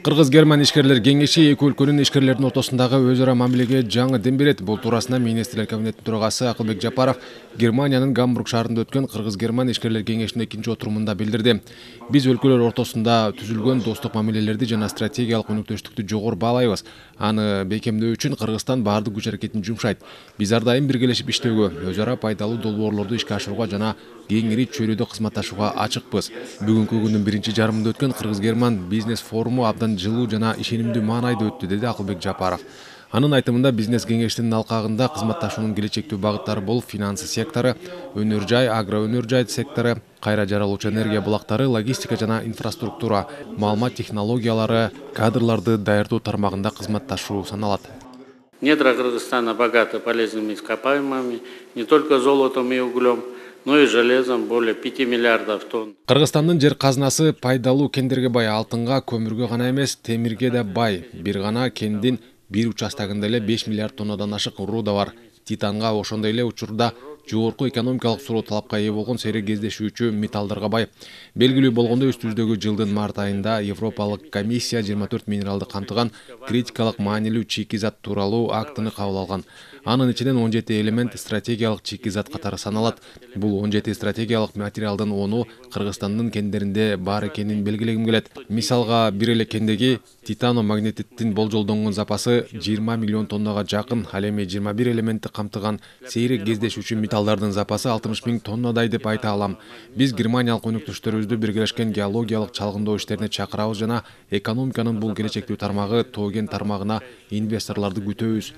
Кыргыз-Герман ишкерлер кеңеши эки өлкөнүн ишкерлердин ортосундагы өз ара мамилеге жаңы дем берет. Бул туурасында министрлер кабинетинин төрагасы Акылбек Жапаров Германиянын Гамбург шаарында өткөн Кыргыз-Герман ишкерлер кеңешинин экинчи отурумунда билдирди. Биз өлкөлөр ортосунда түзүлгөн достук мамилелерди жана стратегиялык өнөктөштүктү жогору баалайбыз. Аны бекемдөө үчүн Кыргызстан баардык күч аракетин жумшайт. Биз ар дайым биргелешип иштөөгө, өз ара пайдалуу долбоорлорду ишке ашырууга жана кеңири чөйрөдө кызматташууга ачыкпыз. Бүгүнкү күндүн биринчи жарымында өткөн Кыргыз-Герман бизнес форуму абдан жылуу жана ишенимдүү маанайда өттү, деди Акылбек Жапаров. Анын айтымында бизнес кеңештин алкагында кызматташуунун келечектүү багыттары болуп финансы сектору, өнөр жай, агроөнөр жай сектору, кайра жаралуучу энергия булактары, логистика жана инфраструктура, маалымат технологиялары, кадрларды даярдоо тармагында кызматташуу саналат. Недра Кыргызстана богаты полезными ископаемыми, не только золотом и углем, но и железом, более 5 миллиардов тонн. Кыргызстандын жер казынасы пайдалуу кендерге бай, алтынга, көмүргө гана эмес, темирге да бай. Бир гана кендин бир участагында эле 5 миллиард тоннадан ашык руда бар. Титанга, ошондой эле учурда жогорку экономикалык суроо талапка ээ болгон сейрек кездешүүчү металлдарга бай. Белгилүү болгондой, үстүбүздөгү жылдын март айында Европалык комиссия 24 минералды камтыган критикалык маанилүү чийки зат тууралуу актыны кабыл алган. Анын ичинен 17 элемент стратегиялык чийки зат катары саналат. Бул 17 стратегиялык материалдын 10-у Кыргызстандын кендеринде бар экенин белгилегим келет. Мисалга, бир эле кендеги титано-магнетиттин болжолдонгон запасы 20 миллион тоннага жакын, ал эми 21 элементти камтыган сейрек кездешүүчү металлдардын запасы 60 миң тоннадай деп айта алам. Биз германиялык өнөктөштөрүбүздү биргелешкен геологиялык чалгындоо иштерине чакырабыз жана экономиканын бул келечектүү тармагы тоо кен тармагына инвесторлорду күтөбүз.